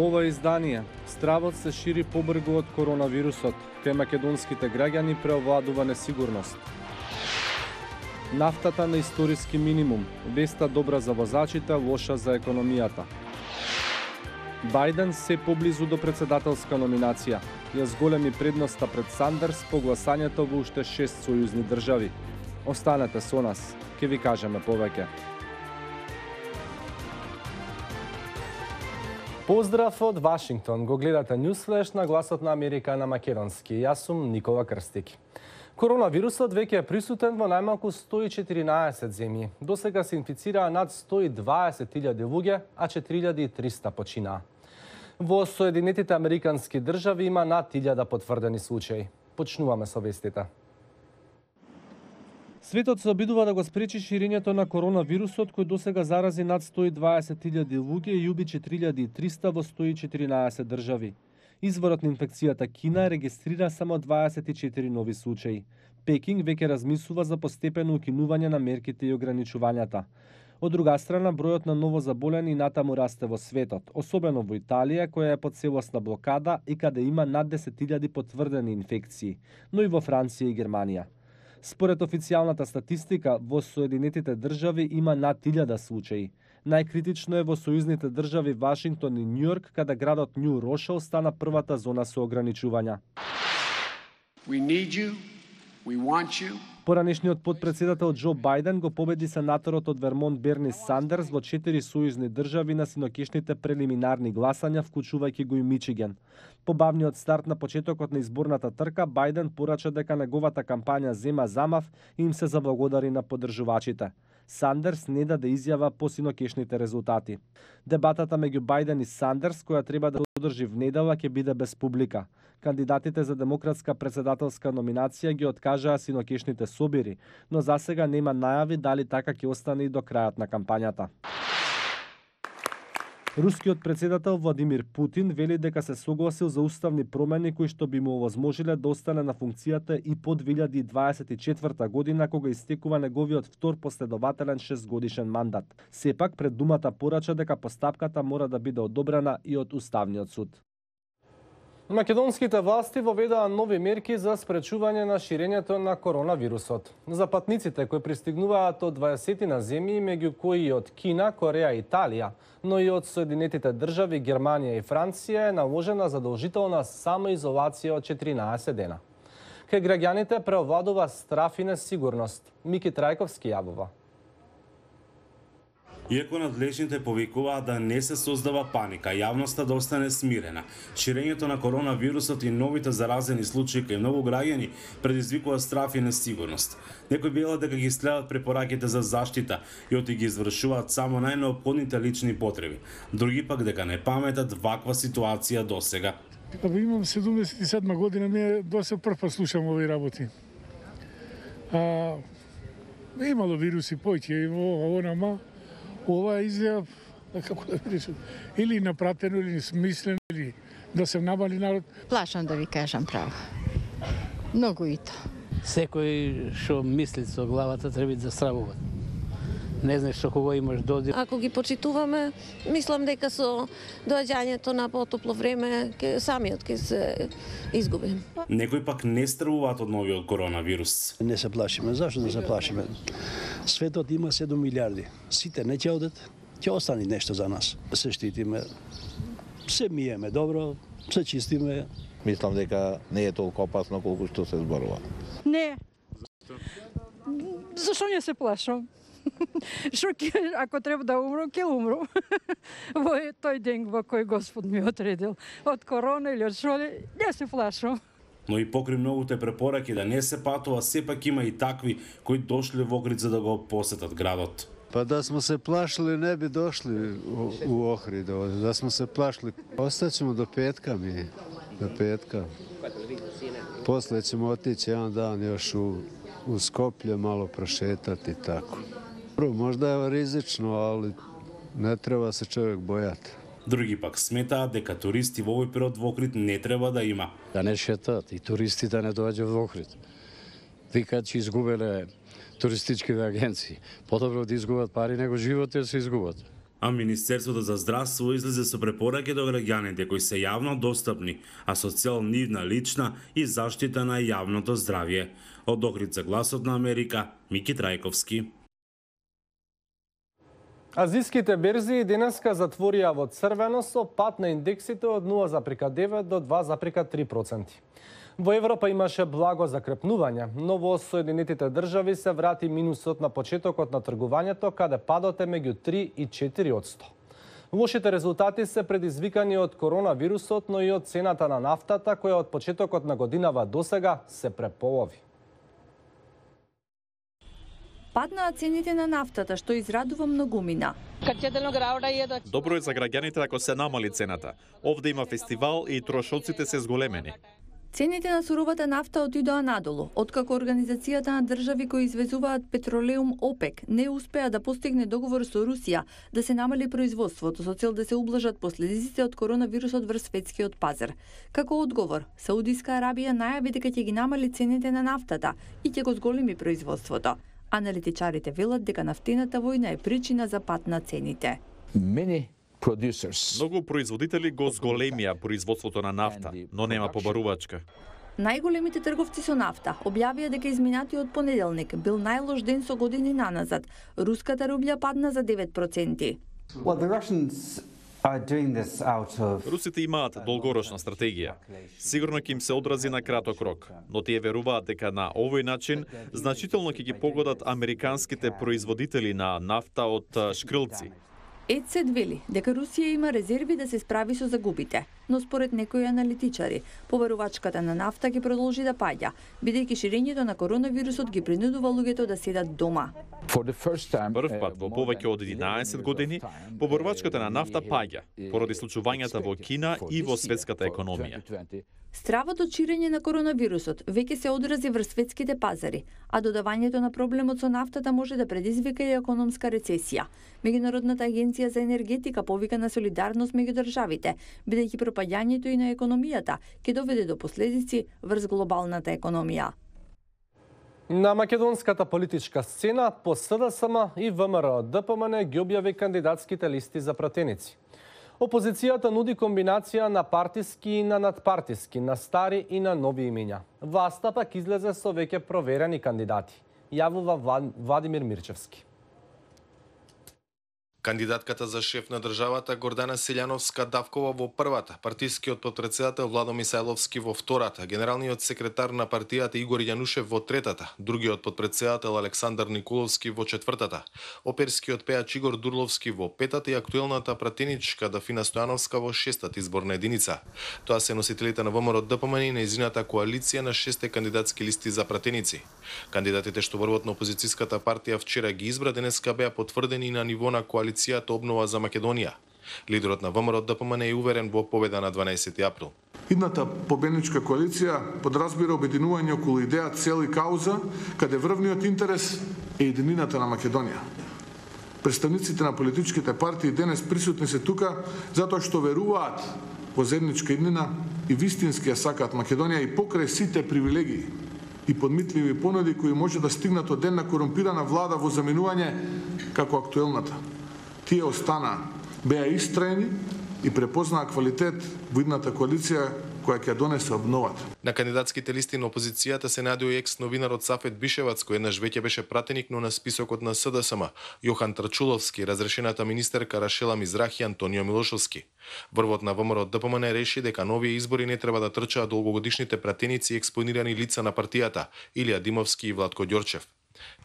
Во ова издание, стравот се шири побрзо од коронавирусот, кај македонските граѓани преовладува несигурност. Нафтата на историски минимум, веста добра за возачите, лоша за економијата. Бајден се поблизу до председателска номинација, ја зголеми предноста пред Сандерс по гласањето во уште 6 сојузни држави. Останете со нас, ќе ви кажеме повеќе. Поздрав од Вашингтон, го гледате Ньюсфлеш на Гласот на Америка на македонски. Јас сум Никола Крстик. Коронавирусот веќе е присутен во најмалку 114 земји. Досега се инфицираа над 120.000 луѓе, а 4.300 починаа. Во Соединетите Американски држави има над 1000 потврдени случаи. Почнуваме со вестите. Светот се обидува да го спречи ширењето на коронавирусот, кој досега зарази над 120.000 луѓе и уби 4.300 во 114 држави. Изворот на инфекцијата Кина регистрира само 24 нови случаи. Пекинг веќе размислува за постепено укинување на мерките и ограничувањата. Од друга страна, бројот на ново заболени натаму расте во светот, особено во Италија, која е под целосна блокада и каде има над 10.000 потврдени инфекции, но и во Франција и Германија. Според официјалната статистика, во Соединетите држави има над 1000 случаи. Најкритично е во сојузните држави Вашингтон и Њујорк, каде градот Њу Рошел стана првата зона со ограничувања. Поранешниот потпредседател Џо Бајден го победи сенаторот од Вермонт Берни Сандерс во 4 сојузни држави на синокишните прелиминарни гласања, вклучувајќи го и Мичиген. По бавниот старт на почетокот на изборната трка, Бајден порача дека неговата кампања зема замав и им се заблагодари на поддржувачите. Сандерс не даде изјава по синокишните резултати. Дебатата меѓу Бајден и Сандерс, која треба да одржи в недела, ќе биде без публика. Кандидатите за демократска председателска номинација ги откажаа синокишните собири, но засега нема најави дали така ќе остане и до крајот на кампањата. Рускиот председател Владимир Путин вели дека се согласил за уставни промени кои што би му овозможиле да остане на функцијата и по 2024 година, кога истекува неговиот втор последователен 6-годишен мандат. Сепак пред думата порача дека постапката мора да биде одобрена и од Уставниот суд. Македонските власти воведаа нови мерки за спречување на ширењето на коронавирусот. За патниците кои пристигнуваат од 20 на земји, меѓу кои и од Кина, Кореја и Италија, но и од Соединетите држави, Германија и Франција, е наложена задолжителна самоизолација од 14 дена. Кај граѓаните преовладува страф и несигурност. Мики Трајковски јавува. Иако надлежните повикуваат да не се создава паника, јавноста да остане смирена, ширењето на коронавирусот и новите заразени случаи кај многу граѓани предизвикува страф и несигурност. Некои велат дека ги следат препораките за заштита и оти ги извршуваат само најнеопходните лични потреби. Други пак дека не паметат ваква ситуација досега. Имам 77 година, ми доста прв пат слушам овие работи. Имало вируси поќе, ова изјав, како да видиш, или напратено, или смислено, или да се намали народ. Плашам да ви кажам право. Многу и то. Секој што мисли со главата треба да стравува. Не знаеш што кого имаш додир. Ако ги почитуваме, мислам дека со доаѓањето на потопло време самиот ќе се изгуби. Некои пак не стравуваат од новиот коронавирус. Не се плашиме. Зашто да се плашиме? Светот има 7 милиарди. Сите не ќе одат, ќе остане нешто за нас. Се штитиме, се миеме добро, се чистиме. Мислам дека не е толку опасно колку што се зборува. Не. Зашо не се плашам? Ако треба да умру, ќе умру. Во тој ден во кој Господ ми отредил. Од корона или од шо, не се плашам. Но и покри многуте препораки да не се патува, сепак има и такви кои дошле во Охрид за да го посетат градот. Па да сме се плашили, не би дошли у Охрид. Да сме се плашили, остаćemo до петка ми. До петка. После ćemo otići jedan dan još u Skoplje, malo prošetati i tako. Možda je rizično, ali ne treba se čovjek bojati. Други пак сметаат дека туристи во овој период во Охрид не треба да има. Да не шетат и туристи да не доаѓаат во Охрид. Викаат че изгубеле туристичките агенции. Подобро да изгубат пари него живот да се изгубат. А Министерството за здравство излезе со препораки до граѓаните кои се јавно достапни, а со цел нивна лична и заштита на јавното здравје. Од Охрид за Гласот на Америка, Мики Трајковски. Азиските берзи денеска затворија во црвено со пад на индексите од 0,9 до 2,3%. Во Европа имаше благо закрепнување, но во Соединетите држави се врати минусот на почетокот на тргувањето, каде падот е меѓу 3 и 4%. Лошите резултати се предизвикани од коронавирусот, но и од цената на нафтата, која од почетокот на годинава досега се преполови. Паднаа цените на нафтата, што израдува многумина. Добро е за граѓаните ако се намали цената. Овде има фестивал и трошоците се зголемени. Цените на суровата нафта отидоа надолу, откако Организацијата на држави кои извезуваат петролеум ОПЕК не успеа да постигне договор со Русија да се намали производството со цел да се ублажат последиците од коронавирусот врз светскиот пазар. Како одговор, Саудиска Арабија најави дека ќе ги намали цените на нафтата и ќе го зголеми производството. Аналитичарите велат дека нафтената војна е причина за пад на цените. Многу производители го зголемија производството на нафта, но нема побарувачка. Најголемите трговци со нафта објавија дека изминатиот понеделник бил најлош ден со години наназад. Руската рублја падна за 9%. Русите имаат долгорочна стратегија. Сигурно ќе им се одрази на краток рок, но тие веруваат дека на овој начин значително ќе ги погодат американските производители на нафта од шкрилци. ЕЦ вели дека Русија има резерви да се справи со загубите, но според некои аналитичари, побарувачката на нафта ќе продолжи да паѓа, бидејќи ширењето на коронавирусот ги принудува луѓето да седат дома. Прв пат во повеќе од 11 години, побарувачката на нафта паѓа, поради случувањата во Кина и во светската економија. Стравот од ширење на коронавирусот веќе се одрази врз светските пазари, а додавањето на проблемот со нафтата може да предизвика и економска рецесија. Меѓународната агенција за енергетика повика на солидарност меѓу државите, бидејќи пропаѓањето и на економијата ќе доведе до последици врз глобалната економија. На македонската политичка сцена по СДСМ и ВМРО ДПМН ги објави кандидатските листи за пратеници. Опозицијата нуди комбинација на партиски и на надпартиски, на стари и на нови имиња. Власта пак излезе со веќе проверени кандидати. Јавува Владимир Мирчевски. Кандидатката за шеф на државата Гордана Селјановска-Давкова во првата, партискиот потпредседател Владо Мисајловски во втората, генералниот секретар на партијата Игор Јанушев во третата, другиот потпредседател Александар Николовски во четвртата, оперскиот пеач Игор Дурловски во петата и актуелната пратеничка Дафина Стојановска во шестата изборна единица. Тоа се носителите на ВМРО ДПМН и нејзината коалиција на 6 кандидатски листи за пратеници. Кандидатите што врвот на опозицијската партија вчера ги избра, денеска беа потврдени на ниво на коалиција Обнова за Македонија. Лидерот на ВМРО ДПМН е уверен во победа на 12 април. Идната победничка коалиција подразбира обединување околу идеја, цел и кауза, каде врвниот интерес е единината на Македонија. Представниците на политичките партии денес присутни се тука затоа што веруваат во заедничка иднина и вистински ја сакаат Македонија и покрај сите привилегии и подмитливи понуди кои може да стигнат од една корумпирана влада во заминување како актуелната. Тие остана, беа истраени и препознаа квалитет во идната коалиција која ќе донесе обновата. На кандидатските листи на опозицијата се најдоа и екс-новинарот Сафет Бишевац, кој еднаш веќе беше пратеник, но на списокот на СДСМ, Јохан Трчуловски, разрешената министерка Рашела Мизрахи и Антонио Милошовски. Врвот на ВМРО ДПМН реши дека нови избори не треба да трчаат долгогодишните пратеници и експонирани лица на партијата, Илија Димовски и Владко Ѓорчев.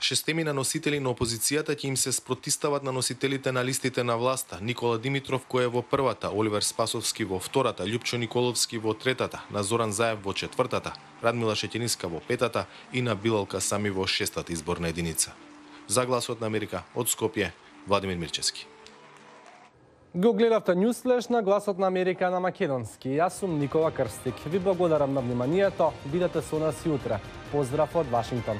Шестемина носители на опозицијата ќе им се спротистават на носителите на листите на власта: Никола Димитров, кој е во првата, Оливер Спасовски во втората, Љупчо Николовски во третата, на Зоран Заев во четвртата, Радмила Шеќениска во петата и на Билалка Сами во шестата изборна единица. За Гласот на Америка, од Скопје, Владимир Мирчевски. Го гледавте Ньюсфлеш на Гласот на Америка на македонски. Јас сум Никола Крстик. Ви благодарам на вниманието. Бидете со нас и утре. Поздрав од Вашингтон.